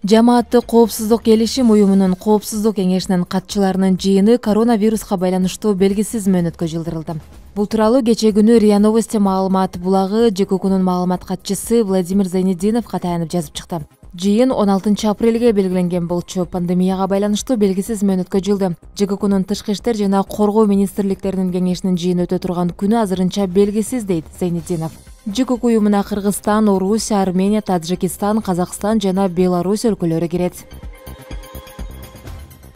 Жамааттык коопсуздук келишим уюмунун коопсуздук кеңешинин катчыларынын жыйыны коронавируска байланыштуу белгисиз мөөнөткө жылдырылды. Бул тууралуу кечээ күнү РИА Новости маалымат булагы ЖККнун маалымат катчысы Владимир Зайнетдиновго таянып жазып чыкты. Жыйын 16 апрелге белгиленген болчу. Пандемияга байланыштуу белгисиз мөөнөткө жылды. ЖККнун тышкы иштер жана коргоо министрликтеринин кеңешинин жыйыны өтө турган күнү азырынча белгисиз, дейт Зайнетдинов. ЖКК уюмуна Кыргызстан, Орусия, Армения, Таджикистан, Казакстан жана Беларусь өлкөлөрү кирет.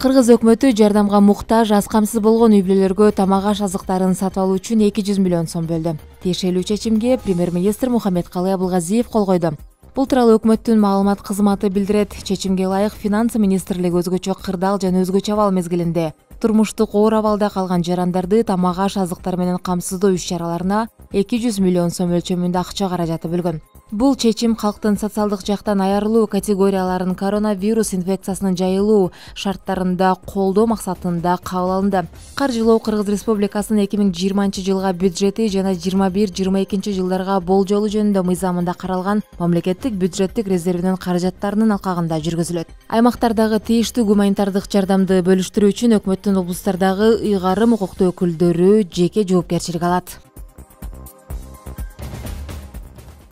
Кыргыз өкмөтү жардамга муктаж, аз камсыз болгон үй бүлөлөргө тамак-аш азыктарын сатып алуу үчүн 200 миллион сом бөлдү. Тиешелүү чечимге премьер-министр Мухаммедкалый Абылгазиев кол койду. Бул тууралуу өкмөттүн маалымат кызматы билдирет. Чечимге ылайык Финансы министрлиги өзгөчө кырдаал жана өзгөчө абал мезгилинде турмуштук оор абалда калган жарандарды тамак-аш азыктар менен камсыздоо иш-чараларына 200 миллион сом өлчөмүндө акча каражаты бөлгөн. Бул чечим калктын социалдык жактан аярылуу категорияларын коронавирус инфекциясынын жайылуу шарттарында колдоо максатында кабыл алынды. Каржылоо Кыргыз Республикасынын 2020 жылга бюджети жана 21-22 жылдарга болжолу жөнүндө мыйзамында каралган мамлекеттик бюджеттик резервинин каражаттарынын алкагында жүргүзүлөт. Аймактардагы тийиштүү гуманитардык жардамды бөлүштүрүү үчүн өкмөттүн облустардагы ыйгарым укуктуу өкүлдөрү жеке жоопкерчилик алат.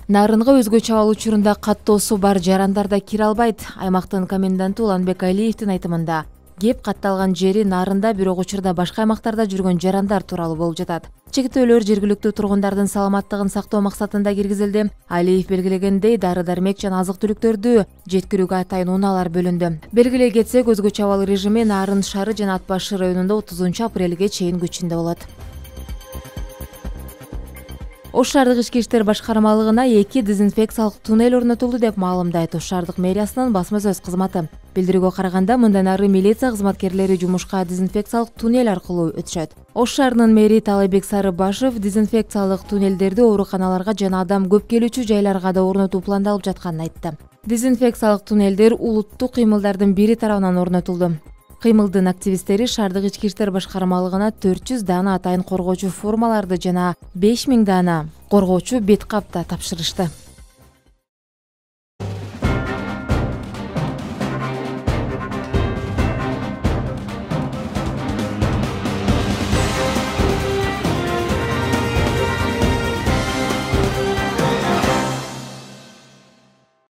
Нарынга өзгөчө абал учурунда каттоосу бар жарандар да кире албайт. Аймактын коменданты Уланбек Алиевдин айтымында, кеп катталган жери Нарында, бирок учурда башка аймактарда жүргөн жарандар тууралуу болуп жатат. Чектөөлөр жергиликтүү тургундардын саламаттыгын сактоо максатында киргизилди. Алиев белгилегендей, дары-дармек жана азык-түлүктөрдү жеткирүүгө атайын унаалар бөлүндү. Белгилей кетсек, өзгөчө абал режими Нарын шаары жана Ат башы районунда 30 апрелге чейин күчүндө болот. Ош шаардык ички иштер башкармалыгына 2 дезинфекциялык туннель орнотулду деп маалымдайт Ош шаардык мэриясынын басма сөз кызматы. Билдирүүгө караганда, мындан ары милиция кызматкерлери жумушка дезинфекциялык туннель аркылуу өтүшөт. Ош шаарынын мэри Талайбек Сарыбашев дезинфекциялык туннелдерди ооруканаларга жана адам көп келүүчү жайларга да орнотуу пландалып жатканын айтты. Дезинфекциялык туннелдер улуттук кыймылдардын бири тарабынан орнотулду. Кыймылдын активисттери шаардык ички иштер башкармалыгына 400 дана атайын коргоочу формаларды жана 5000 дана коргоочу бет кап да тапшырышты.